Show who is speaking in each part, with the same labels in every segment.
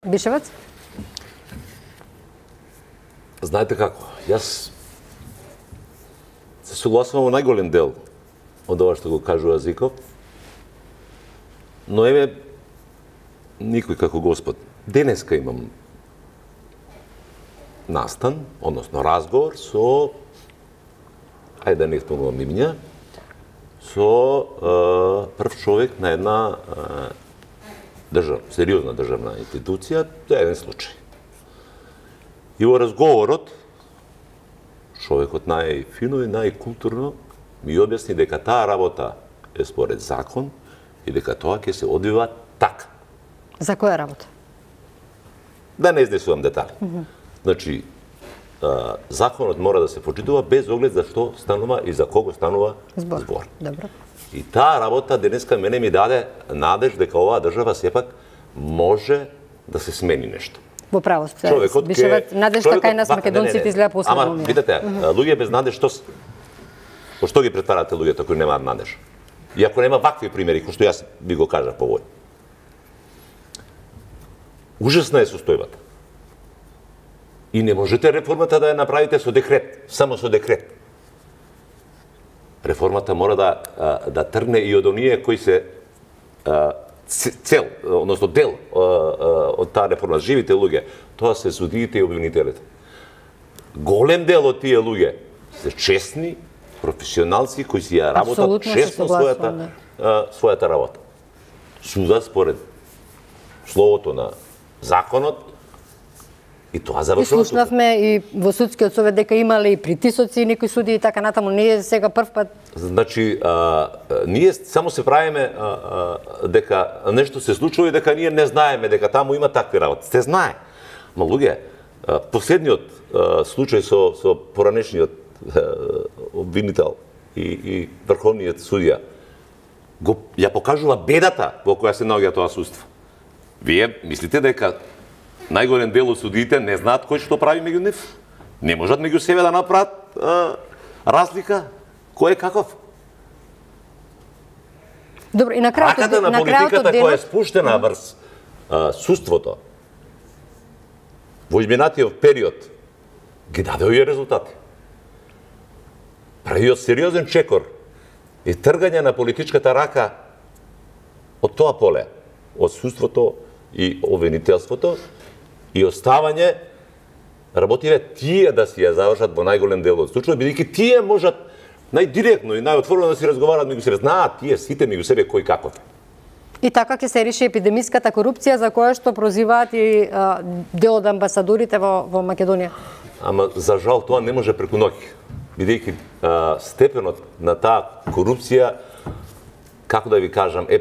Speaker 1: Бишевец?
Speaker 2: Знаете како, јас се согласувам во најголем дел од ова што го кажува Зиков, но еве никој како Господ. Денеска имам настан, односно разговор со, ајде да не спомнувам имиња, со прв човек на една сериозна државна институција, тоа е еден случај. И во разговорот, човекот најфино и најкултурно ми објасни дека таа работа е според закон и дека тоа ќе се одвива така.
Speaker 1: За која работа?
Speaker 2: Да не изнесувам детали. Значи, законот мора да се почитува без оглед за што станува и за кого станува збор.
Speaker 1: Добро.
Speaker 2: И таа работа денеска мене ми даде надеж дека оваа држава сепак може да се смени нешто.
Speaker 1: Во право сте. Бишеват надеж така и нас македонците изгледа последно.
Speaker 2: Ама, видите, луѓе без надеж, по што ги претварате луѓето кои немаат надеж? И ако нема вакви примери, кои што јас би го кажав по овој. Ужасна е состојбата. И не можете реформата да ја направите со декрет, само со декрет. Реформата мора да тргне и од оние кои се цел, односно дел од таа реформа, живите луѓе, тоа се судиите и обвинителите. Голем дел од тие луѓе се честни, професионалци кои си ја работат честно својата работа. Суда според словото на законот и тоа завршува.
Speaker 1: И слушнавме и во судскиот совет дека имале и притисоци и некои суди и така натаму, не е сега прв пат. Значи,
Speaker 2: ние само се правиме дека нешто се случува и дека ние не знаеме дека таму има такви работи. Се знае. Ма луѓе, последниот случај со поранешниот обвинител и врховниот судија ја покажува бедата во која се наоѓа тоа судство. Вие мислите дека најголем дел од судиите не знаат кој што прави меѓу нив? Не можат меѓу себе да направат разлика? Кој е каков?
Speaker 1: Добро, и на крајот
Speaker 2: раката на политиката која е спуштена врз судството во изминатиот период ги даде овие резултати. Правиот сериозен чекор и тргање на политичката рака од тоа поле, од судството и обвинителството, и оставање работиве тие да си ја завршат во најголем дел од случаи, бидејќи тие можат најдиректно и најотворено да си разговараат меѓу себе, знаат тие сите меѓу себе кој каков е.
Speaker 1: И така ќе се реши епидемиската корупција за која што прозиваат и дел од амбасадорите во Македонија.
Speaker 2: Ама за жал тоа не може преку ноќ, бидејќи степенот на таа корупција, како да ви кажам, е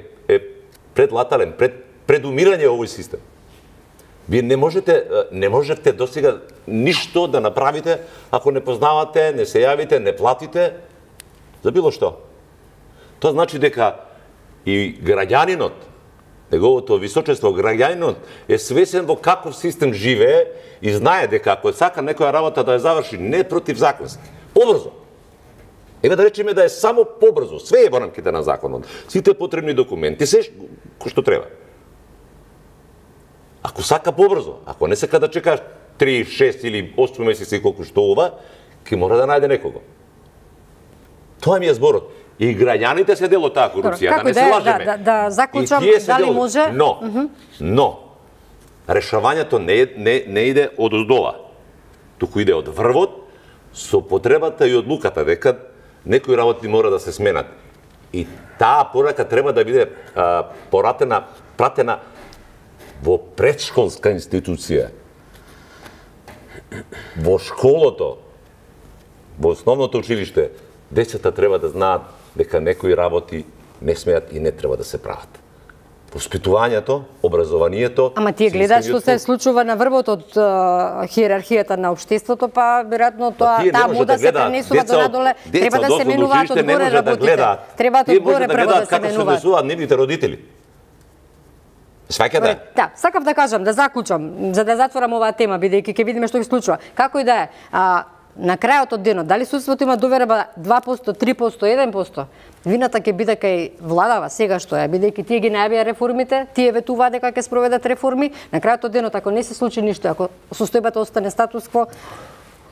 Speaker 2: предлатален, пред умирање овој систем. Вие не можете досега ништо да направите ако не познавате, не се јавите, не платите за било што. Тоа значи дека и граѓанинот, неговото височество граѓанинот е свесен во каков систем живее и знае дека ако сака некоја работа да ја заврши не противзаконски, побрзо. Еве да речеме да е само побрзо, све е во рамките на законот, сите потребни документи, се што треба. Ако сака побрзо, ако не сака да чека 3, 6 или 8 месеци колку што ова, ќе мора да најде некого. Тоа ми е зборот. И граѓаните се дел од таа корупција, да не се лажеме.
Speaker 1: Да заклучам, дали може?
Speaker 2: Но, решавањето не иде од оздола, туку иде од врвот, со потребата и одлуката дека некои работи мора да се сменат. И таа порака треба да биде пратена во предшколска институција, во школото, во основното училиште, децата треба да знаат дека некои работи не смеат и не треба да се прават. Воспитувањето, образованието...
Speaker 1: Ама тие гледаат што се случува на врвот од хиерархијата на општеството, па веројатно таа мода се пренесува до надоле, треба да се менуваат одгоре работите. Треба одгоре прво да се менуваат.
Speaker 2: Како се однесуваат нивните родители. Сваќате?
Speaker 1: Да, сакав да кажам, да заклучам, за да затворам оваа тема, бидејќи ќе видиме што ги случува. Како и да е, на крајот од денот, дали судството има доверба 2%, 3%, 1%, вината ќе биде кај владава сега што е, бидејќи тие ги најавија реформите, тие ветуваат дека ќе спроведат реформи, на крајот од денот ако не се случи ништо, ако состојбата остане статус-кво,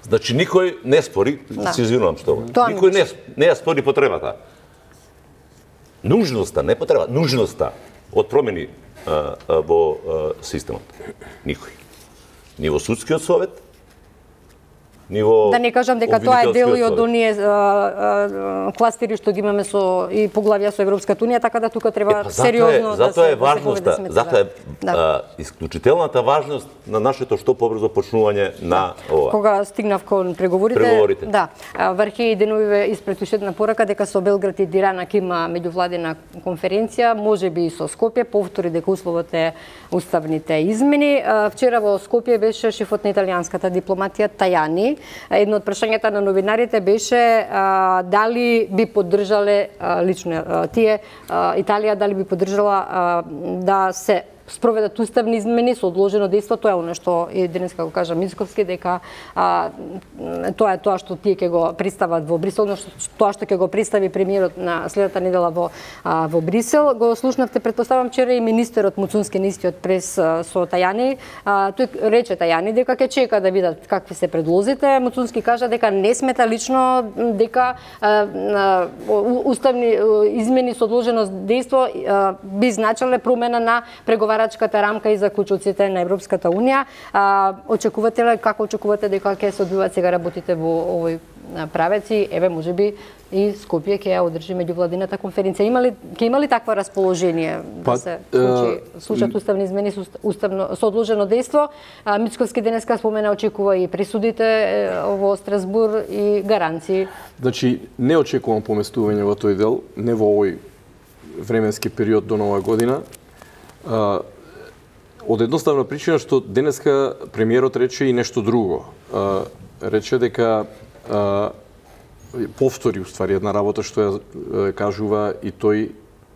Speaker 2: значи никој не спори, се извинувам што. Никој не ја спори потребата. Нужноста, не потреба, нужноста од промени во системот. Никој. Ни во судскиот совет, ни во...
Speaker 1: Да не кажам дека тоа е дел и од оние кластери што ги имаме со и поглавја со Европската унија, така да тука треба сериозно да се...
Speaker 2: Затоа е важноста, затоа е исклучителната важност на нашето што побрзо почнување на ова.
Speaker 1: Кога стигнав кон преговорите, да, врхи деновиве испред уште една порака дека со Белград и Тирана ќе има меѓувладина конференција, можеби и со Скопје, повтори дека условот е уставните измени. Вчера во Скопје беше шефот на италијанската дипломатија Тајани. Едно од прашањата на новинарите беше дали би поддржале лично тие Италија дали би поддржала да се спроведат уставни измени со одложено дејство, тоа е она што и денеска го кажа Мицковски, дека тоа е тоа што тие ќе го представат во Брисел, тоа што ќе го представи премиерот на следната недела во Брисел. Го слушнавте, претпоставам, вчера и министерот Муцунски на истиот прес со Тајани. Тој рече Тајани дека ќе чека да видат какви се предлозите. Муцунски кажа дека не смета лично дека уставни измени со одложено дејство би значеле промена на преговарачката рамка и заклучоците на Европската унија. Како очекувате дека ќе се одвиваат сега работите во овој правец и еве можеби и Скопје ќе ја одржи меѓувладината конференција. Ќе има ли таква расположение да се случат уставни измени со одложено дејство? Мицковски денеска спомена очекува и пресудите во Страсбур и гаранции.
Speaker 3: Значи не очекувам поместување во тој дел, не во овој временски период до нова година. Од едноставна причина што денеска премиерот рече и нешто друго. Рече дека повтори уствари една работа што ја кажува и тој,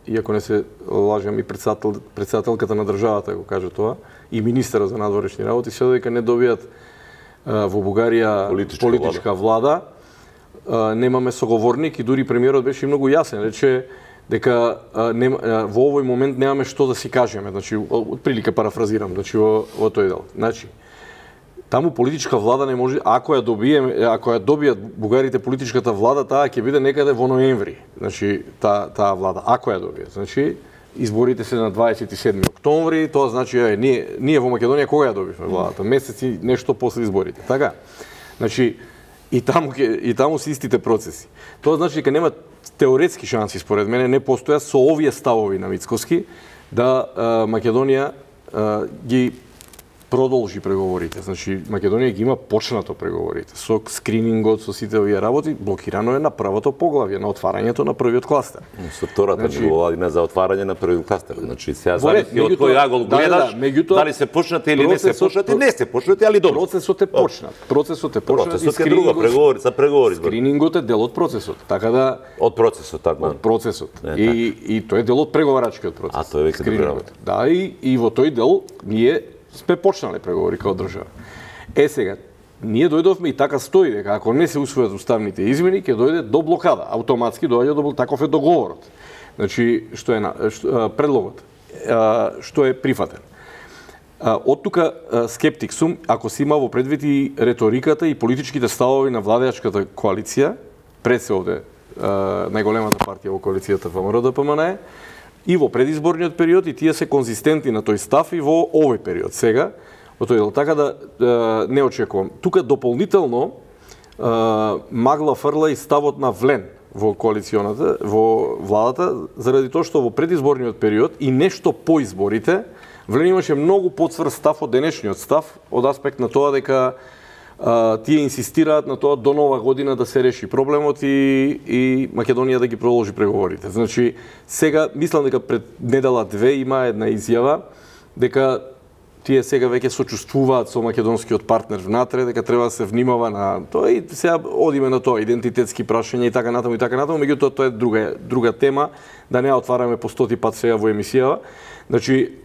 Speaker 3: иако не се лажам, и председателката на државата го каже тоа, и министерот за надворешни работи, се дека не добијат во Бугарија политичка влада, немаме соговорник и дури премиерот беше многу јасен, рече дека во овој момент немаме што да си кажеме, значи отприлика парафразирам, значи во тој дел. Значи таму политичка влада не може, ако ја добијат бугарите политичката влада, таа ќе биде некаде во ноември. Значи таа влада, ако ја добијат. Значи изборите се на 27 октомври, тоа значи ние во Македонија кога ја добивме владата? Месеци нешто после изборите. Така. Значи и таму се истите процеси. Тоа значи дека нема теоретски шанси, според мене, не постојат со овие ставови на Мицковски да Македонија ги продолжи преговорите. Значи, Македонија ги има почнато преговорите. Со скринингот, со сите овие работи, блокирано е на првото поглавје, на отварањето на првиот кластер.
Speaker 2: Со втората меѓувладина за отварање на првиот кластер. Значи, сега зависи од кој агол гледаш, дали се почнати или не се почнати, не се почнати, али добро.
Speaker 3: Процесот е почнат. Процесот е
Speaker 2: друго, преговори, за преговори.
Speaker 3: Скринингот е дел од процесот. Така да
Speaker 2: од процесот, така.
Speaker 3: Од процесот. И тој е дел од преговарачкиот процес.
Speaker 2: А тоа е веќе
Speaker 3: скринингот. Да, и во тој дел ние сме почнале преговори као држава. Сега, ние дојдовме и така стои дека ако не се усвојат уставните измени, ќе дојде до блокада. Автоматски доаѓа до таков е договорот. Значи, што е предлогот, што е прифатен. Од тука скептик сум, ако се има во предвид и реториката и политичките ставови на владеачката коалиција, пред се овде најголемата партија во коалицијата ВМРО-ДПМНЕ, и во предизборниот период, и тие се конзистентни на тој став и во овој период. Сега, во тој дел, така да не очекувам. Тука дополнително магла фрла и ставот на Влен во коалиционата, во владата, заради тоа што во предизборниот период и нешто по изборите, Влен имаше многу поцврст став од денешниот став, од аспект на тоа дека тие инсистираат на тоа до нова година да се реши проблемот и Македонија да ги продолжи преговорите. Значи, сега, мислам дека пред недела-две има една изјава дека тие сега веќе сочувствуваат со македонскиот партнер внатре, дека треба да се внимава на тоа и сега одиме на тоа, идентитетски прашања и така натаму, меѓутоа тоа е друга тема, да не ја отвараме по 100 пат сега во емисијава. Значи,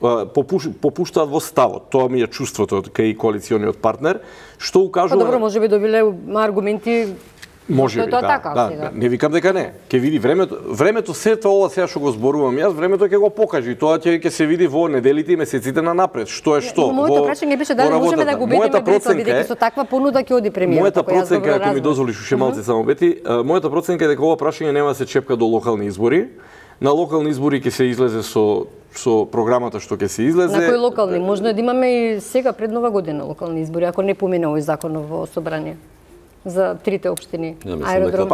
Speaker 3: попуштаат во ставот, тоа ми е чувството кај коалициониот партнер, што укажува...
Speaker 1: Добро, може би добиле аргументи.
Speaker 3: Може би, да. Не викам дека не. Ке види времето се тоа ова сега што го зборувам јас, времето ќе го покаже и тоа ќе се види во неделите и месеците на напред. Што е што?
Speaker 1: Моето прашање беше дали можеме да го убедиме Брисел бидејќи со таква понуда ќе оди премиерот.
Speaker 3: Мојата проценка, ако ми дозволиш уште малце само Бети, мојата проценка е дека ова прашање нема да се чепка до локални избори. На локални избори ќе се излезе со програмата што ќе се излезе.
Speaker 1: На кои локални? Можно да имаме и сега пред Нова година локални избори, ако не помине овој закон во собрание за трите општини.
Speaker 2: Аеродром.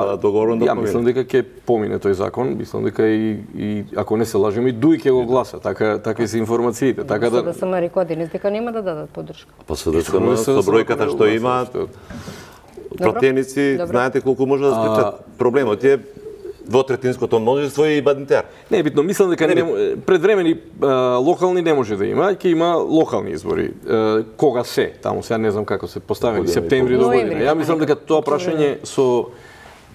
Speaker 3: Ја мислам дека ќе помине тој закон, мислам дека и ако не се лажем и ДУИ ќе го гласа, така се информациите, така да
Speaker 1: СДСМ рекоа денес дека нема да дадат поддршка.
Speaker 2: Па СДСМ со бројката што има противници, знаете колку може да спречат проблемот е двотретинското множество и баднитер.
Speaker 3: Не е битно, мислам дека предвремени локални не може да има, ќе има локални избори. Кога се? Таму сега не знам како се поставени, септември до година. Ја мислам дека тоа прашање со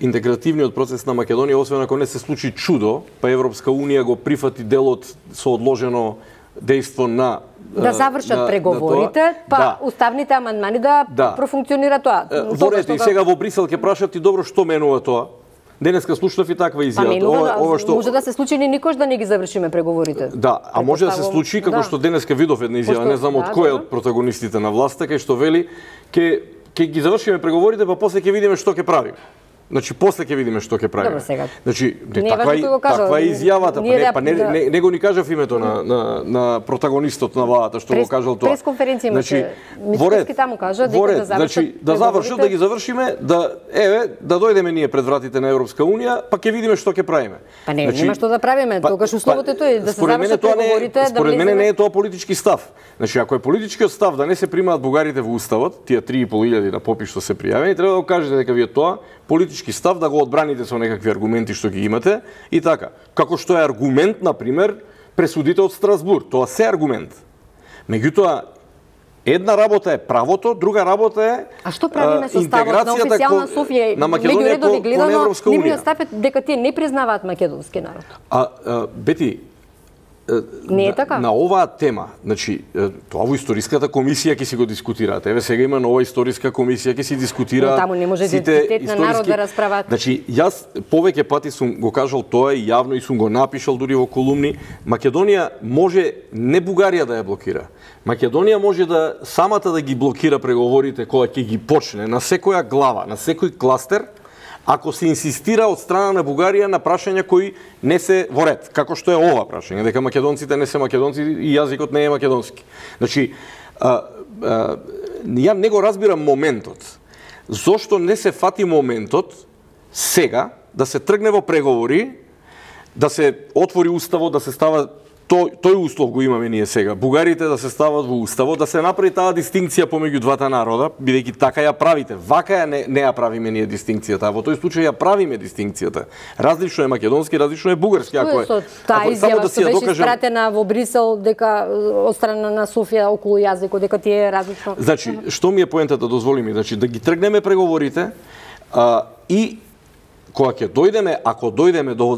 Speaker 3: интегративниот процес на Македонија, освен ако не се случи чудо, па Европска унија го прифати делот со одложено дејство на
Speaker 1: да завршат преговорите, па уставните амандмани да профункционира тоа.
Speaker 3: Во ред, и сега во Брисел ќе прашат и добро што менува тоа. Денеска слушнав и таква изјава.
Speaker 1: Може да се случи ни никош да не ги завршиме преговорите.
Speaker 3: Да, а може да се случи како што денеска видов една изјава, не знам од кој од протагонистите на власта, кај што вели ќе ги завршиме преговорите, па после ќе видиме што ќе правиме. Значи после ќе видиме што ќе правиме. Значи таква е изјавата, па не го ни кажав името на протагонистот на владата што го кажал тоа.
Speaker 1: Пресконференција имаше. Мицкоски таму кажа дека
Speaker 3: да завршат, да ги завршиме, да дојдеме ние пред вратите на Европска унија, па ќе видиме што ќе правиме.
Speaker 1: Па нема што да правиме, тогаш условото е тоа да се завршат преговорите, да
Speaker 3: според мене не е тоа политички став. Значи ако е политичкиот став да не се примаат бугарите во уставот, тие 3.500 на попис што се пријавени, треба да го кажете дека вие тоа политички став да го одбраните со некакви аргументи што ги имате и така. Како што е аргумент, например, пресудите од Страсбур, тоа се аргумент. Меѓутоа, една работа е правото, друга работа е
Speaker 1: А што правиме со ставот на официјална Софија
Speaker 3: на Македонија кон Европска унија?
Speaker 1: Нивниот став е дека тие не признаваат македонски народ.
Speaker 3: Бети,
Speaker 1: не е така?
Speaker 3: На оваа тема, значи, тоа во историската комисија ќе си го дискутираат. Еве сега има нова историска комисија, ќе си дискутира.
Speaker 1: Таму не може идентитет на народ да расправат.
Speaker 3: Значи, јас повеќе пати сум го кажал тоа и јавно и сум го напишал дури во колумни. Македонија може не Бугарија да ја блокира. Македонија може да самата да ги блокира преговорите кога ќе ги почне на секоја глава, на секој кластер, ако се инсистира од страна на Бугарија на прашања кои не се во ред, како што е ова прашање, дека македонците не се македонци и јазикот не е македонски. Значи, ја не го разбирам моментот. Зошто не се фати моментот сега да се тргне во преговори, да се отвори уставот, да се става тој услов го имаме ние сега. Бугарите да се стават во уставот, да се направи таа дистинкција помеѓу двата народа, бидејќи така ја правите. Вака ја не ја правиме ние дистинкцијата, а во тој случај ја правиме дистинкцијата. Различно е македонски, различно е бугарски.
Speaker 1: Што е со таа изјава што беше испратена во Брисел дека од страна на Софија околу јазикот, дека тие е различно?
Speaker 3: Значи, што ми е поентата, дозволи ми, значи да ги тргнеме преговорите и кога ќе дојдеме, ако дојдеме до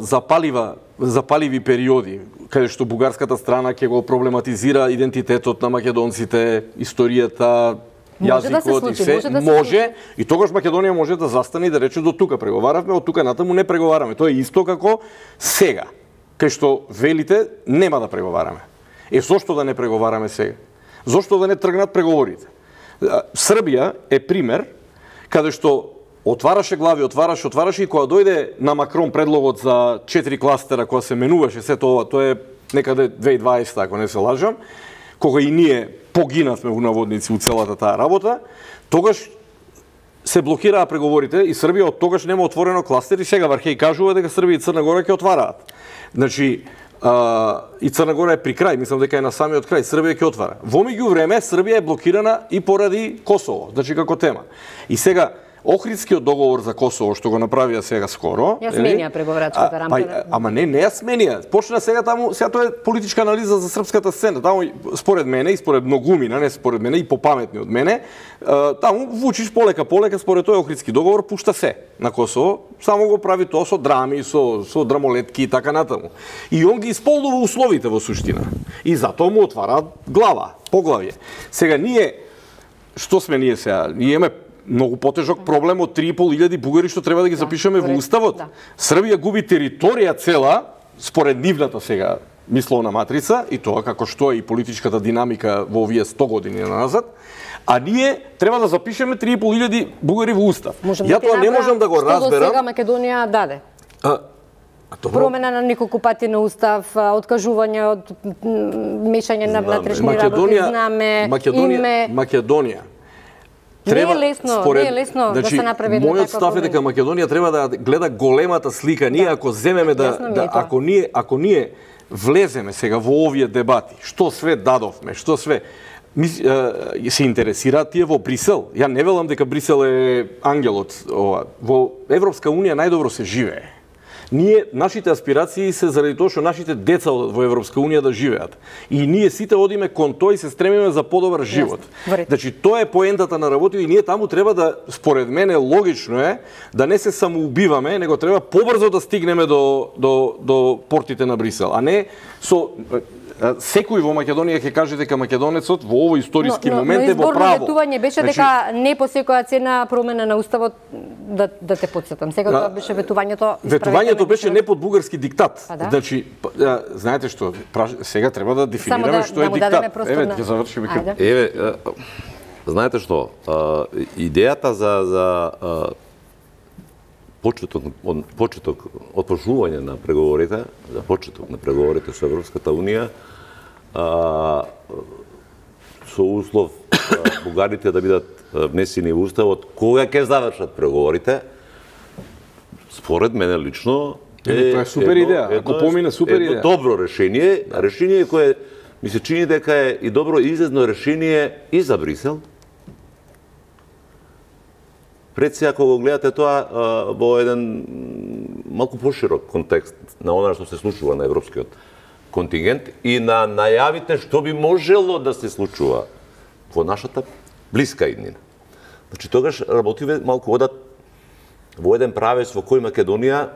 Speaker 3: запаливи периоди, каде што бугарската страна ќе го проблематизира идентитетот на македонците, историјата, јазикот и се, може, и тогаш Македонија може да застане и да рече до тука преговаравме, од тука натаму не преговараме. Тоа е исто како сега, кај што велите нема да преговараме. Зошто да не преговараме сега? Зошто да не тргнат преговорите? Србија е пример каде што отвараше глави, отвараше и кога дојде на Макрон предлогот за 4 кластера, кога се менуваше сето ова, тоа е некаде 2020, ако не се лажам, кога и ние погинавме во наводници у целата таа работа, тогаш се блокираа преговорите и Србија од тогаш нема отворено кластер и сега Вархеј кажува дека Србија и Црна Гора ќе отвараат. Значи, и Црна Гора е при крај, мислам дека е на самиот крај, Србија ќе отвара. Во меѓувреме Србија е блокирана и поради Косово, значи како тема. И сега Охридскиот договор за Косово што го направија сега скоро,
Speaker 1: ја сменија преговарачката рамка.
Speaker 3: Ама не ја сменија. Почна сега таму, сега тоа е политичка анализа за српската сцена. Таму според мене и според многумина, не според мене и попаметни од мене, таму Вучич полека според тој Охридски договор пушта се на Косово, само го прави тоа со драми, со драмолетки и така натаму. И он ги исполнува условите во суштина. И затоа му отвара глава, поглавје. Сега ние, што сме ние сега? Ние имаме многу потежок проблем од 3.500 бугари што треба да ги запишеме во уставот. Србија губи територија цела според нивната сега мисловна матрица и тоа како што е и политичката динамика во овие 100 години назад. А ние треба да запишеме 3.500 бугари во устав. Ја тоа не можам да го разберам.
Speaker 1: Што до сега Македонија даде? Промена на неколку пати на устав, откажување од мешање на внатрешни работи, знаме, име.
Speaker 3: Македонија.
Speaker 1: Не е лесно да се направи една таква.
Speaker 3: Мојот став е дека Македонија треба да гледа големата слика. Ние ако земеме ако ние влеземе сега во овие дебати, што све дадовме, што све се интересираат тие во Брисел. Ја не велам дека Брисел е ангелот. Во Европска унија најдобро се живее. Ние, нашите аспирации се заради тоа што нашите деца во Европска унија да живеат. И ние сите одиме кон тој и се стремиме за подобар живот. Значи, тоа е поентата на работа и ние таму треба да, според мене, логично е да не се самоубиваме, него треба побрзо да стигнеме до портите на Брисел, а не со секој во Македонија ќе каже дека македонецот во овој историски момент е во право.
Speaker 1: Но изборно ветување беше дека не по секоја цена промена на уставот, да те потсетам. Сега тоа беше ветувањето.
Speaker 3: Ветувањето беше не под бугарски диктат. Значи, знаете што, сега треба да дефинираме што е диктат. Еве, ќе завршиме.
Speaker 2: Еве, знаете што, идејата за почеток отпочнување на преговорите, за почеток на преговорите со Европската унија, со услов бугарите да бидат внесени во уставот, кога ќе завршат преговорите, според мене лично
Speaker 3: тоа е супер идеја. Ако помине супер идеја.
Speaker 2: Добро решение кое ми се чини дека е и добро излезно решение и за Брисел. Пред сега, кога го гледате тоа во еден малку поширок контекст на она што се случува на европскиот контингент и на најавите што би можело да се случува во нашата блиска иднина. Значи, тогаш работиве малку одат во еден правец во кој Македонија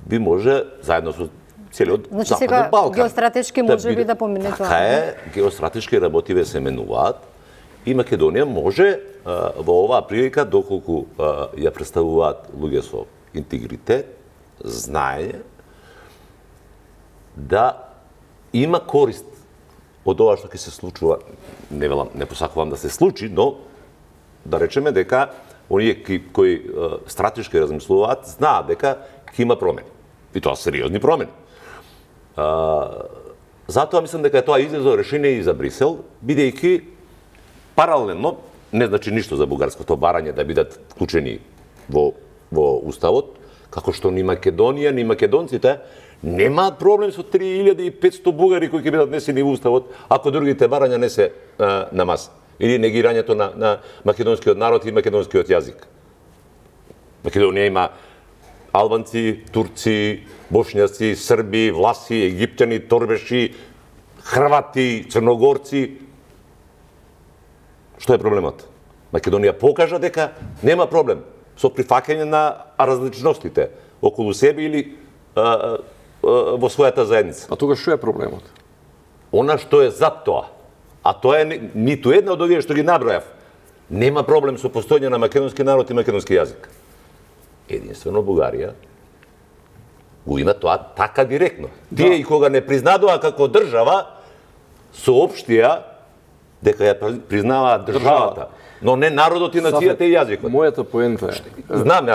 Speaker 2: би може, заедно со целиот Западен Балкан.
Speaker 1: Геостратешки може би да помине тоа.
Speaker 2: Така е, геостратешки работиве се менуваат и Македонија може во оваа прилика, доколку ја представуваат луѓе со интегритет, знаење, да има корист од ова што ќе се случува. Не посакувам да се случи, но да речеме дека оние кои стратешки размислуваат, знаат дека ќе има промени. И тоа сериозни промени. Затоа мислам дека е тоа излезно решение и за Брисел, бидејќи паралелно, не значи ништо за бугарското барање да бидат вклучени во уставот, како што ни Македонија, ни македонците немаат проблем со 3500 бугари кои ќе бидат внесени во уставот, ако другите барања не се на маса. Или негирањето на македонскиот народ и македонскиот јазик. Македонија има албанци, турци, бошњаци, срби, власи, египтјани, торбеши, хрвати, црногорци. Што е проблемот? Македонија покажа дека нема проблем со прифаќање на различностите околу себе или во својата заедница.
Speaker 3: А тога што е проблемот?
Speaker 2: Она што е за тоа, а тоа е ниту една од овие што ги набројав, нема проблем со постојање на македонски народ и македонски јазик. Единствено Бугарија го има тоа така директно. Тие и кога не признадоа како држава, соопштија дека ја признаваат државата, но не народот и нацијата и јазикот.
Speaker 3: Мојата поента е.
Speaker 2: Знам,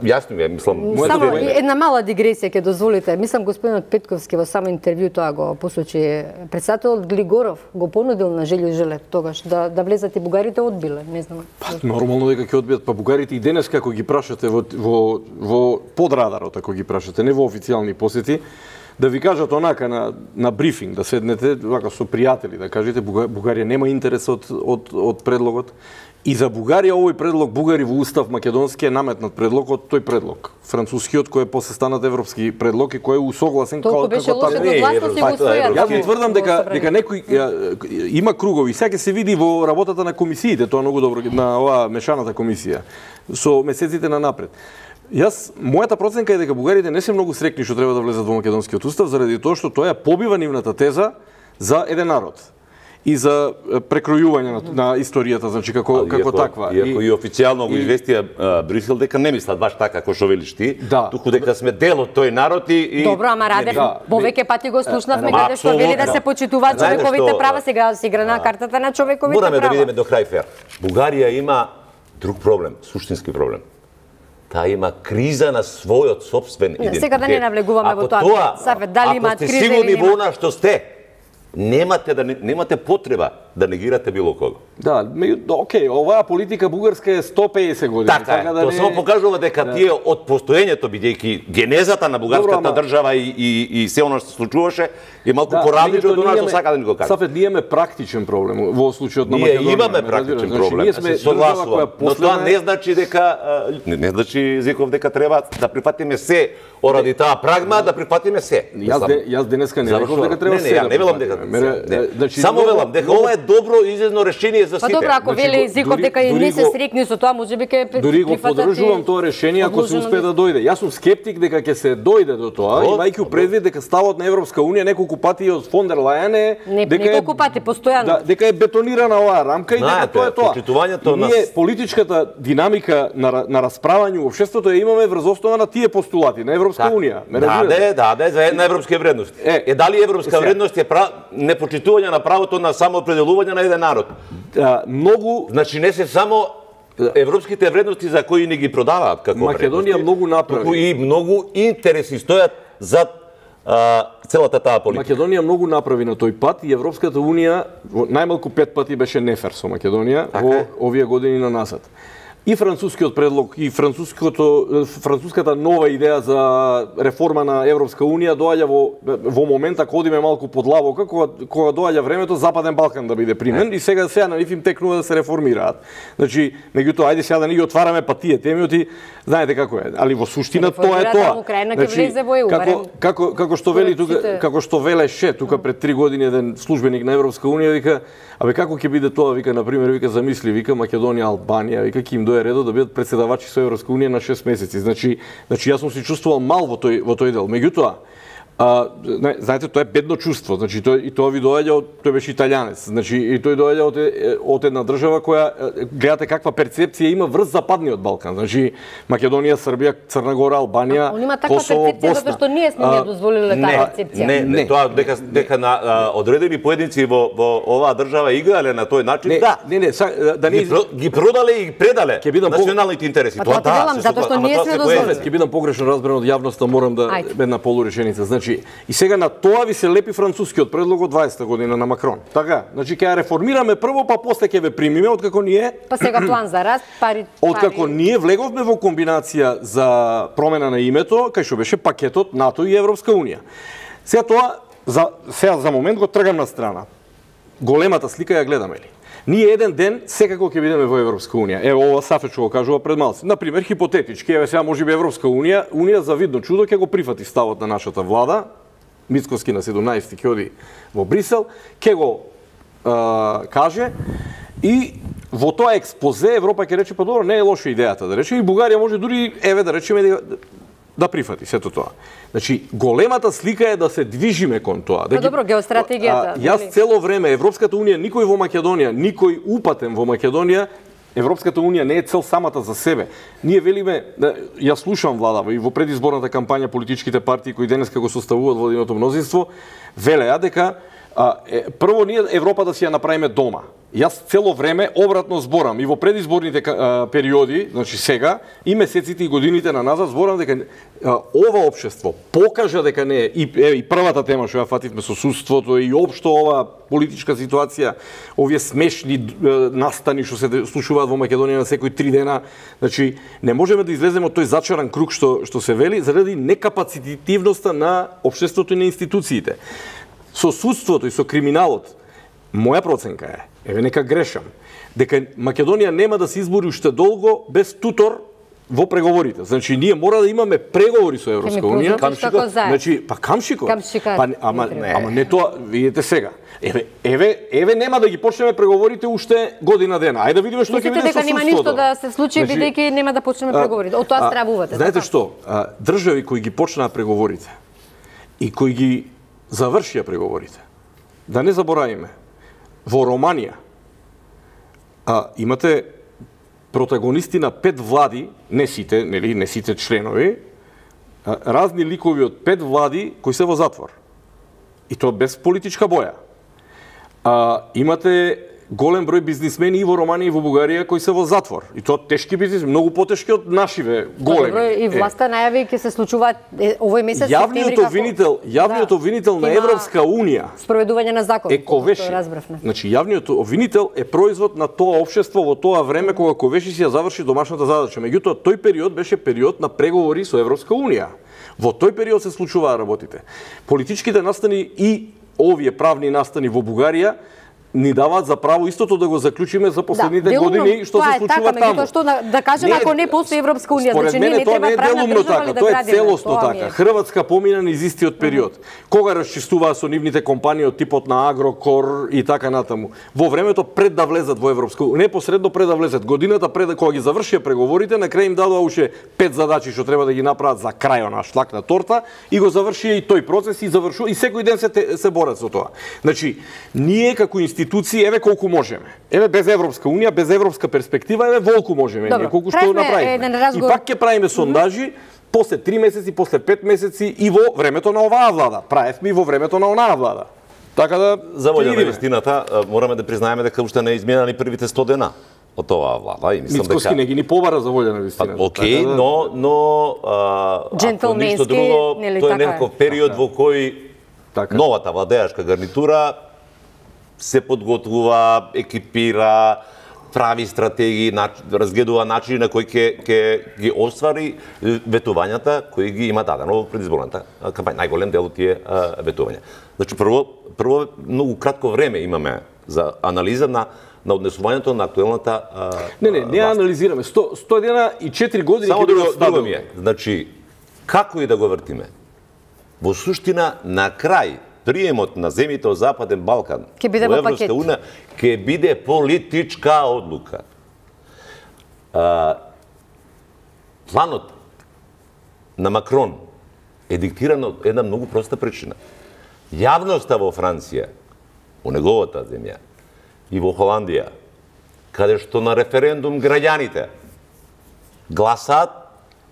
Speaker 2: јасно ми е, мислам.
Speaker 1: Само една мала дигресија ќе дозволите. Мислам господинот Петковски во само интервју тоа го посочи. Председателот Глигоров го понудил на Желјо Желев тогаш да влезат и бугарите, одбиле, не знам.
Speaker 3: Нормално дека ќе одбијат, па бугарите и денес како ги прашате во под радарот, ако ги прашате, не во официјални посети, да ви кажат онака на брифинг, да седнете вака со пријатели, да кажете Бугарија нема интерес од предлогот. И за Бугарија овој предлог, бугари во устав македонски е наметнат предлог од тој предлог. Францускиот кој е после станат европски предлог и кој е усогласен
Speaker 1: како така.
Speaker 3: Јас ви тврдам дека некој има кругови, сега ќе се види во работата на комисиите, тоа многу добро на оваа мешаната комисија со месеците на напред. Мојата проценка е дека бугарите не се многу срекни што треба да влезат во македонскиот устав заради тоа што тоа ја побива нивната теза за еден народ и за прекројување на историјата, значи како таква.
Speaker 2: Иако и официјално го известија Брисел дека не мислат баш така како што велиш ти, туку дека сме дел од тој народ и
Speaker 1: добро, ама Радев, повеќе пати го слушнавме каде што вели да се почитуваат човековите права, сега се игра на картата на човековите права.
Speaker 2: Мораме да видиме до крај фер. Бугарија има друг проблем, суштински проблем. Таа има криза на својот сопствен идентитет.
Speaker 1: Сега да не навлегуваме во тоа. Сафет, дали имаат криза или
Speaker 2: сигурни во она што сте, немате потреба да негирате било кого.
Speaker 3: Да, окей, оваа политика бугарска е 150 години.
Speaker 2: Така е, тоа само покажува дека тие од постоењето, бидејќи генезата на бугарската држава и се она што се случуваше, е малку поразлично од она што сака да ни го каже.
Speaker 3: Сафет, ние имаме практичен проблем во случајот на Македонија.
Speaker 2: Ние имаме практичен проблем, се согласувам, но тоа не значи дека не значи Зеков дека треба да прифатиме се оради таа прагма, да прифатиме се.
Speaker 3: Јас денеска не реков дека треба се.
Speaker 2: Не велам дека само велам дека ова е добро излезно решение за сите.
Speaker 1: Па добро, ако вели Зеков дека и не се срекни со тоа, можеби ќе прифатат.
Speaker 3: Дури го поддржувам тоа решение ако се успее да дојде. Јас сум скептик дека ќе се дојде до тоа, имајќи предвид дека ставот на Европска унија неколку пати од фон дер Лајен е
Speaker 1: неколку пати постојано.
Speaker 3: Дека е бетонирана оваа рамка и дека тоа е тоа.
Speaker 2: Почитувањето на
Speaker 3: политичката динамика на расправање во општеството ја имаме врз основа на тие постулати на Европска унија.
Speaker 2: Да, за една европска вредност. Дали европска вредност е непочитување на правото на самоопределување на еден народ.
Speaker 3: Многу,
Speaker 2: значи не се само европските вредности за кои не ги продаваат како
Speaker 3: Македонија многу направи.
Speaker 2: Туку и многу интереси стојат за целата таа политика.
Speaker 3: Македонија многу направи на тој пат и Европската унија најмалку 5 пати беше нефер со Македонија во овие години на назад. И францускиот предлог, и француската нова идеја за реформа на Европска унија доаѓа во момента кога одиме малку под лавока, кога доаѓа времето Западен Балкан да биде примен и сега на нив им текнува да се реформираат. Значи, меѓутоа, ајде сега да не ги отвараме па тие теми, знаете како е, али во суштина тоа е тоа.
Speaker 1: Значи,
Speaker 3: како што вели тука, како што велеше тука пред 3 години еден службеник на Европска унија вика, абе како ќе биде тоа, вика, на пример, вика, замисли, вика, Македонија, Албанија, вика, ќе им дое редот да бидат председавачи со Европска унија на 6 месеци. Значи јас сум се чувствувал мал во тој дел. Меѓутоа, знаете, тоа е бедно чувство. Значи и тоа ви доаѓа тој беше италијанец. Значи и тој доаѓа од една држава која гледате каква перцепција има врз западниот Балкан. Значи Македонија, Србија, Црна Гора, Албанија,
Speaker 1: Он има таква перцепција затоа што ние сме не дозволиле таа перцепција.
Speaker 2: Не, тоа дека на одредени поединци во оваа држава играле на тој начин.
Speaker 3: Да не
Speaker 2: ги продале и предале националните интереси.
Speaker 1: Тоа да, затоа што ние сме дозволиле.
Speaker 3: Ќе бидам погрешно разбран од јавноста, морам да една полуреченица. Значи, и сега на тоа ви се лепи францускиот предлог од 20-та година на Макрон. Така, значи ќе ја реформираме прво, па после ќе ве примиме, откако ние
Speaker 1: па сега план за раст, пари.
Speaker 3: Откако ние влеговме во комбинација за промена на името, кај што беше пакетот НАТО и Европска унија. Сега тоа за момент го тргам на страна. Големата слика ја гледаме ли? Ние еден ден секако ќе бидеме во Европска унија. Ево ова Сафет што го кажува пред малци. На пример, хипотетички, еве сега можеби Европска унија за видно чудо ќе го прифати ставот на нашата влада. Мицкоски на 17 ќе оди во Брисел, ќе го каже и во тоа експозе Европа ќе рече па добро, не е лоша идејата да рече и Бугарија може дури еве да речеме да прифати сето тоа. Значи, големата слика е да се движиме кон тоа.
Speaker 1: Па добро, геостратегијата.
Speaker 3: Јас цело време, Европската унија, никој во Македонија, никој упатен во Македонија, Европската унија не е цел самата за себе. Ние велиме, јас слушам владава и во предизборната кампања политичките партии кои денеска го составуваат владиното мнозинство, велеа дека прво ние Европа да си ја направиме дома. Јас цело време обратно зборам и во предизборните периоди, значи сега, и месеците и годините на назад зборам дека ова општество покажа дека не е и првата тема што ја фативме со судството и општо ова политичка ситуација, овие смешни настани што се случуваат во Македонија на секои 3 дена, значи не можеме да излеземе од тој зачаран круг што се вели заради некапацитивноста на општеството и на институциите. Со судството и со криминалот, моја проценка е, еве нека грешам, дека Македонија нема да се избори уште долго без тутор во преговорите. Значи ние мора да имаме преговори со Европска унија. Значи па камшикот. Па ама не тоа, видите сега. Еве нема да ги почнеме преговорите уште година дена. Ајде да видиме што ќе биде со судството.
Speaker 1: Дека нема ништо да се случи бидејќи нема да почнеме преговорите. Од тоа стравувате.
Speaker 3: Знаете што? Држави кои ги почнаа преговорите и кои ги завршија преговорите. Да не заборавиме. Во Романија имате протагонисти на 5 влади, не сите членови, разни ликови од 5 влади кои се во затвор. И тоа без политичка боја. Имате голем број бизнисмени и во Романија и во Бугарија кои се во затвор. И тоа тешки бизнисмени, многу потешки од нашиве големи.
Speaker 1: И власта најави ќе се случуваат овој месец
Speaker 3: септември јавниот обвинител на Европска унија
Speaker 1: спроведување на закон.
Speaker 3: Е Ковеши. Значи јавниот обвинител е производ на тоа општество во тоа време кога Ковеши си ја заврши домашната задача. Меѓутоа тој период беше период на преговори со Европска унија. Во тој период се случуваа работите. Политичките настани и овие правни настани во Бугарија ни даваат за право истото да го заклучиме за последните години што се случува таму.
Speaker 1: Што да кажеме ако не постои Европска унија, значи ние не треба правна држава да
Speaker 3: тоа е целосно така. Хрватска помина низ истиот период. Кога расчистуваа со нивните компании од типот на Агрокор и така натаму. Во времето пред да влезат во Европска унија, непосредно пред да влезат, годината пред кога ги завршија преговорите, на крај им дадоа уште 5 задачи што треба да ги направат за крај на шлак на торта и го завршија и тој процес и завршува и секој ден се борат со тоа. Значи, ние како институции, еве колку можеме. Еве без Европска унија, без европска перспектива, еве волку можеме, ние колку што направиме. И пак ќе правиме сондажи после 3 месеци, после 5 месеци и во времето на оваа влада. Правевме и во времето на онаа влада. Така да
Speaker 2: за волја на вистината мораме да признаеме дека уште не изминаа ни првите 100 дена од оваа влада и мислам дека
Speaker 3: Мицкоски не ги ни побара за волја на вистината.
Speaker 2: Океј, но ако ништо друго, тоа е некој период во кој новата владеачка гарнитура се подготвува, екипира, прави стратегии, разгледува начини на кои ќе ги оствари ветувањата кои ги има дадено во предизборната кампања. Најголем дел од тие ветувања. Значи прво многу кратко време имаме за анализа на однесувањето на актуелната
Speaker 3: Не анализираме. 100 дена и 4 години
Speaker 2: само друго ми е. Значи како и да го вртиме, во суштина на крај приемот на земјите од Западен Балкан во Европска унија ќе биде политичка одлука. Планот на Макрон е диктиран од една многу проста причина. Јавноста во Франција, во неговата земја, и во Холандија, каде што на референдум граѓаните гласаат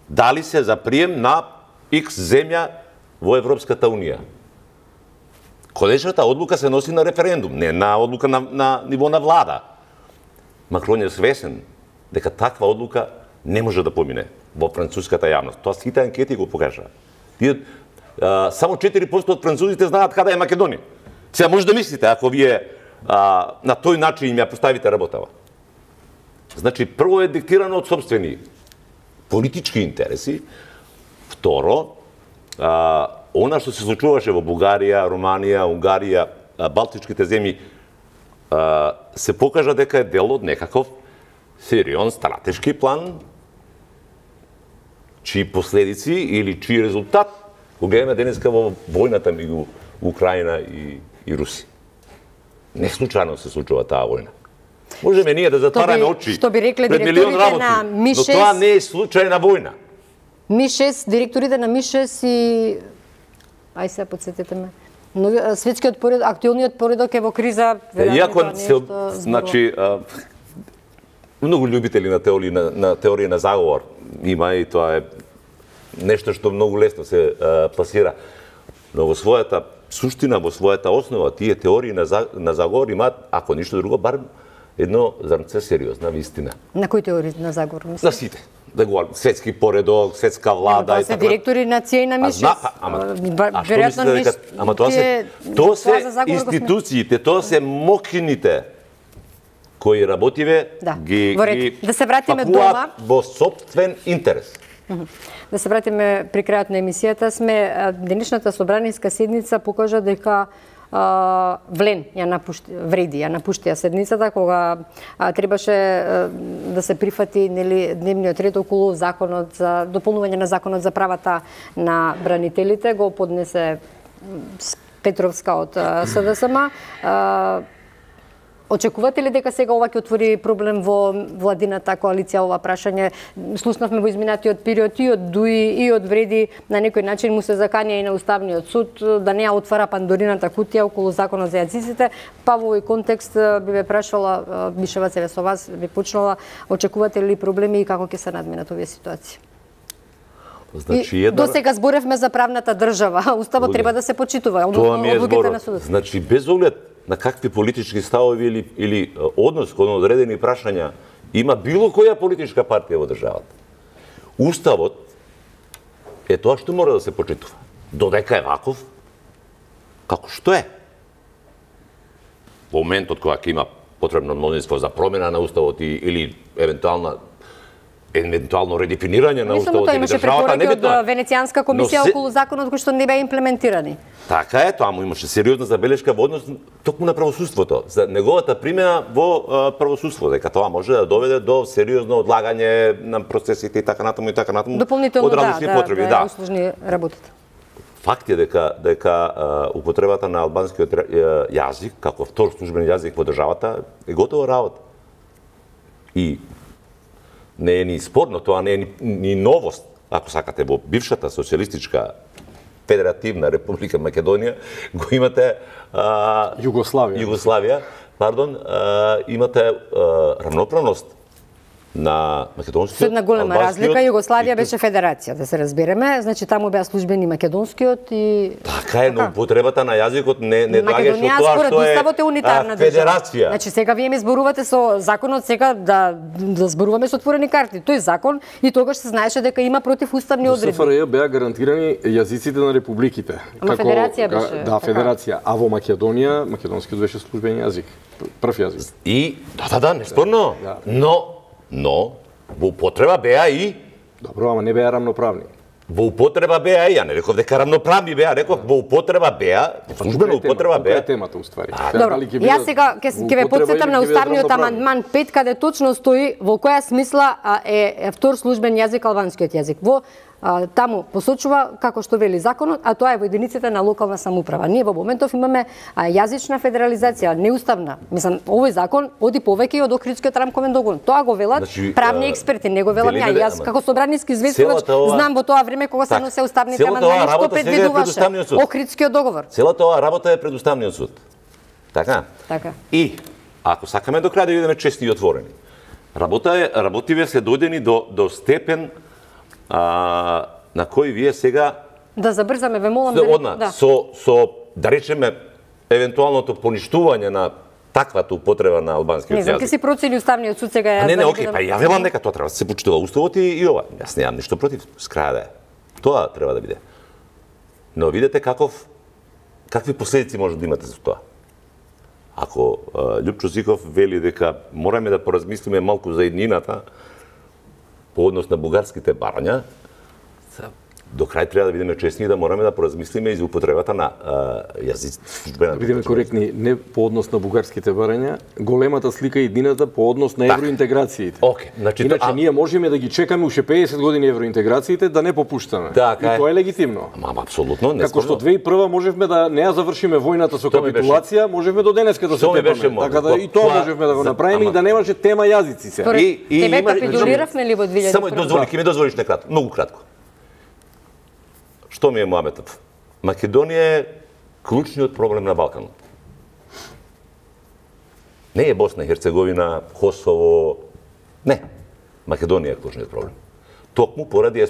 Speaker 2: дали се за прием на X земја во Европската унија. Конечната одлука се носи на референдум, не на одлука на ниво на влада. Макрон е свесен дека таква одлука не може да помине во француската јавност. Тоа сите анкети го покажа. Само 4% од французите знаат каде е Македонија. Сега може да мислите, ако вие на тој начин им ја поставите работава. Значи, прво е диктирано од собствени политички интереси, второ, она што се случуваше во Бугарија, Романија, Унгарија, Балтичките земји, се покажа дека е дел од некаков сериозен стратешки план, чии последици или чии резултат го гледаме денеска во војната меѓу Украина и Русија. Не случајно се случува таа војна. Можеме ние да затвараме очи пред милион работи, но тоа не е случајна војна.
Speaker 1: Ми-6, директорите на Ми-6 и ај се подсетете ме. Светскиот поредок, актуелниот поредок е во криза.
Speaker 2: Иако значи многу љубители на теорија на заговор има и тоа е нешто што многу лесно се пласира. Но во својата суштина, во својата основа, тие теории на заговор имаат, ако ништо друго, барем едно зрнце сериозна вистина.
Speaker 1: На кои теории на заговор мислите?
Speaker 2: На сите. Да говорим, светски поредок, светска влада
Speaker 1: и така. Тоа се директори на ЦИЕ и на МИШ.
Speaker 2: Ама тоа се институциите, тоа се мокините кои работиве ги
Speaker 1: да се вратиме дома
Speaker 2: во собствен интерес.
Speaker 1: Да се вратиме при крајот на емисијата сме, денешната собраниска седница покажа дека Влен ја напушти седницата кога требаше да се прифати дневниот ред околу законот за дополнување на законот за правата на бранителите, го поднесе Петровска од СДСМ. Очекувате ли дека сега ова ќе отвори проблем во владината коалиција ова прашање? Слушнавме во изминатиот период и од ДУИ и од Вреди на некој начин му се заканија и на Уставниот суд да не ја отвара пандорината кутија околу законот за јазиците, па во овој контекст би ве прашала, Бишева се со вас би почнала, очекувате ли проблеми и како ќе се надминат овие ситуации?
Speaker 2: Значи,
Speaker 1: до сега зборевме за правната држава, Уставот треба да се почитува, одлуките на судот.
Speaker 2: Значи, без оглед на какви политички ставови или однос кон одредени прашања има било која политичка партија во државата. Уставот е тоа што мора да се почитува. Додека е ваков, како што е. Во моментот кога ќе има потребно мнозинство за промена на Уставот или евентуално редефинирање на Уставот или државата, не битно.
Speaker 1: Од Венецијанска комисија околу законот кои што не беа имплементирани.
Speaker 2: Така е, тоа му имаше сериозна забелешка во однос токму на правосудството, за неговата примена во правосудство, дека тоа може да доведе до сериозно одлагање на процесите и така натаму
Speaker 1: дополнително
Speaker 2: од различни потреби,
Speaker 1: да услужни работите.
Speaker 2: Факт е дека употребата на албанскиот јазик како втор службен јазик во државата е готова работа. И не е ни спорно, тоа не е ни новост, ако сакате, во бившата социјалистичка Федеративна Република Македонија го имате Југославија, имате равноправност на македонскиот.
Speaker 1: Со една голема разлика, Југославија беше федерација, да се разбереме, значи таму беа службени македонскиот и
Speaker 2: така е, но употребата на јазикот не доаѓаше од тоа што е
Speaker 1: Уставот е унитарна
Speaker 2: федерација.
Speaker 1: Значи сега вие ми зборувате со законот сега да зборуваме со отворени карти. Тој закон и тогаш се знаеше дека има противуставни одредби.
Speaker 3: Во СФРЈ беа гарантирани јазиците на републиките.
Speaker 1: Ама федерација беше.
Speaker 3: Да, федерација, а во Македонија македонскиот беше службен јазик, прв јазик.
Speaker 2: И да, неспорно. Но во употреба беа и
Speaker 3: добро, ама не беа рамноправни.
Speaker 2: Во употреба беа и, ја не реков дека рамноправни беа, реков во употреба беа, службена употреба беа.
Speaker 3: Тоа е темата уствари.
Speaker 1: Добро, јас сега ќе ве потсетам на уставниот амандман 5 каде точно стои во која смисла е втор службен јазик албанскиот јазик. Во таму посочува како што вели законот, а тоа е во единиците на локална самоуправа. Ние во моментов имаме јазична федерализација, неуставна. Мислам, овој закон оди повеќе од Охридскиот рамковен договор. Тоа го велат правни експерти, не го велам ја. Јас како собраниски известувач знам во тоа време кога се носе уставните амандмани што предвидуваше Охридскиот договор.
Speaker 2: Целата оваа работа е пред Уставниот суд. Така?
Speaker 1: Така.
Speaker 2: И ако сакаме до крај да бидеме честни и отворени, работиве се дојдени до степен на кој вие сега
Speaker 1: да забрзаме, ве молам
Speaker 2: да со да речеме евентуалното поништување на таквата употреба на албанскиот јазик.
Speaker 1: Не знам, ке си процени Уставниот суд сега
Speaker 2: јас. Не, окей, па ја велам дека тоа треба да се почитува Уставот и ова. Јас немам ништо против, с крај да е. Тоа треба да биде. Но видете какви последици може да имате за тоа. Ако Љупчо Зиков вели дека мораме да поразмислиме малку за еднината по однос на бугарските барања, до крај треба да бидеме честни и да мораме да поразмислиме и за употребата на јазици.
Speaker 3: Да бидеме коректни, не по однос на бугарските барања, големата слика е едината по однос на евроинтеграциите.
Speaker 2: Иначе
Speaker 3: ние можеме да ги чекаме уште 50 години евроинтеграциите, да не попуштаме. И тоа е легитимно.
Speaker 2: Ама апсолутно,
Speaker 3: како што 2001 можевме да не ја завршиме војната со капитулација, можеме до денеска да се тепаме. Така да и тоа можевме да го направиме и да немаше тема јазици се.
Speaker 1: Тебе капитулиравме ли во 2001?
Speaker 2: Само ќе ми дозволиш некратко, многу кратко. Што ми е муабетот? Македонија е клучниот проблем на Балканот. Не е Босна и Херцеговина, Косово, не. Македонија е клучниот проблем. Токму поради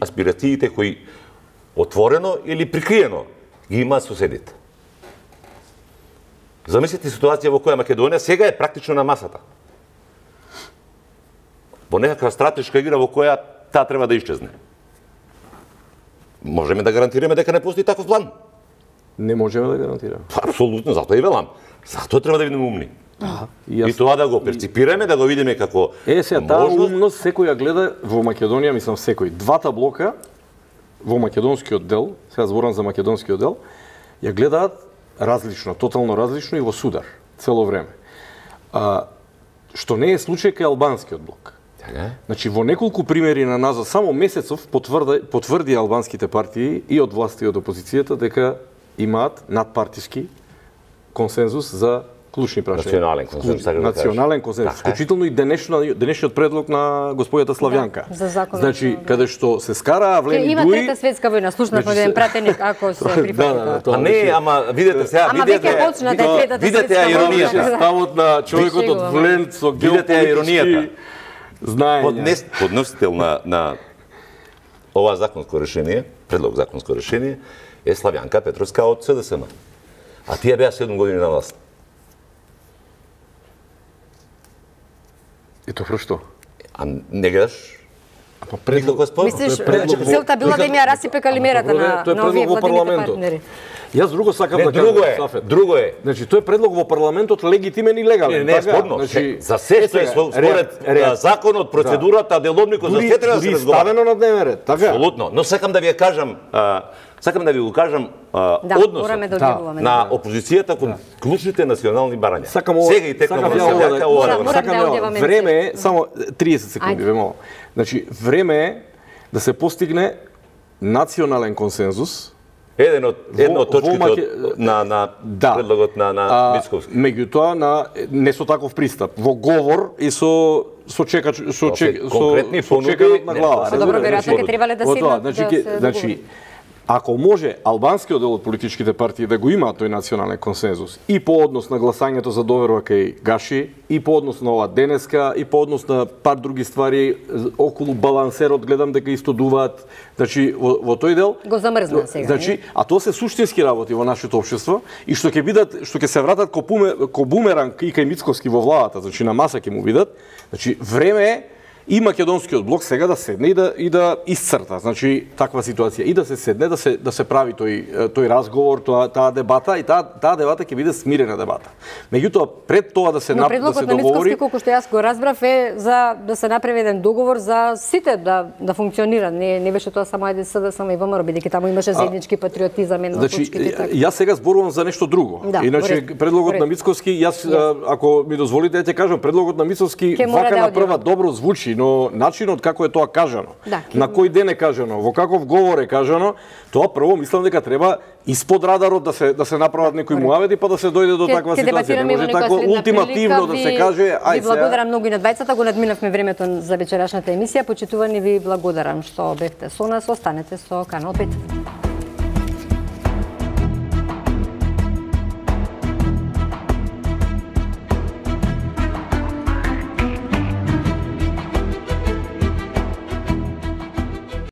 Speaker 2: аспирациите кои отворено или прикриено ги имаат соседите. Замислете ситуација во која Македонија сега е практично на масата. Во некаква стратешка игра во која таа треба да исчезне. Можеме да гарантираме дека не постои таков план?
Speaker 3: Не можеме да гарантираме.
Speaker 2: Апсолутно, затоа и велам. Затоа треба да бидеме умни. И тоа да го перципираме, да го видиме како
Speaker 3: сега таа умност секој ја гледа во Македонија, мислам секој. Двата блока во македонскиот дел, сега зборам за македонскиот дел, ја гледаат различно, тотално различно и во судар цело време. Што не е случај кај албанскиот блок. Значи во неколку примери на назад, само месецов потврди албанските партии и од власта и од опозицијата дека имаат надпартиски консензус за клучни прашања. Национален консензус. Вклучително и денешниот предлог на господјата Славјанка. Значи, каде што се скараа влеми
Speaker 1: Има трета светска војна, слушнавме еден пратеник ако се прифаќа.
Speaker 2: А не, ама видете сега, видете ја иронијата.
Speaker 3: Ставот на човекот од Влен со геополитички знаења.
Speaker 2: Подносител на ова законско решение, предлог законско решение, е Славјанка Петровска од СДСМ. А тие беа 7 години на власт.
Speaker 3: И тоа што?
Speaker 2: А не гледаш? Никако спор?
Speaker 1: Мислиш, целта била да им ја расипе калимерата на овие владините партнери?
Speaker 3: Јас друго сакам да
Speaker 2: кажам. Друго е.
Speaker 3: Значи, тој е предлог во парламентот легитимен и легален.
Speaker 2: Не е спорно. За се што е според законот, процедурата, деловникот, за се треба да се разговара.
Speaker 3: Ставено на дневен ред, така?
Speaker 2: Апсолутно. Но сакам да ви кажам, односот на опозицијата кон клучните национални барања. Сега и текнува
Speaker 3: Сакам време е, само 30 секунди, ве молам. Значи, време е да се постигне национален консензус.
Speaker 2: Една од точките на предлогот на Мицковски.
Speaker 3: Меѓутоа, не со таков пристап. Во говор и со чеканот на глава.
Speaker 1: Добро, веројатно ќе требале да седнат да се договори.
Speaker 3: Ако може албанскиот дел од политичките партии да го има тој национален консензус и по однос на гласањето за доверба кај Гаши, и по однос на ова денеска, и по однос на пар други ствари околу балансерот, гледам дека истодуваат, значи во тој дел
Speaker 1: го замрзна сега.
Speaker 3: Значи, а тоа се суштински работи во нашето општество и што ќе се вратат ко бумеранг и кај Мицковски во владата, значи на маса ќе му видат. Значи време е и македонскиот блок сега да седне и да исцрта, значи таква ситуација и да се седне да се прави тој разговор, таа дебата и таа дебата ќе биде смирена дебата. Меѓутоа пред тоа да се договори.
Speaker 1: Предлогот на Мицковски, колку што јас го разбрав, е за да се направи еден договор за сите да функционира. Не беше тоа само СДСМ само и ВМРО, бидејќи таму имаше заеднички патриотизам една од точките така.
Speaker 3: Јас сега зборувам за нешто друго. Иначе предлогот на Мицковски, јас ако ми дозволите ќе кажам, предлогот на Мицковски вака на прва добро звучи, но начинот како е тоа кажано, на кој ден е кажано, во каков говор е кажано, тоа прво мислам дека треба испод радарот да се направат некои муавети па да се дојде до таква ситуација. Не може тако ултимативно да се каже, ај
Speaker 1: ви благодарам многу и на двајцата, го надминавме времето за вечерашната емисија. Почитувани ви благодарам што бевте со нас, останете со Канал 5.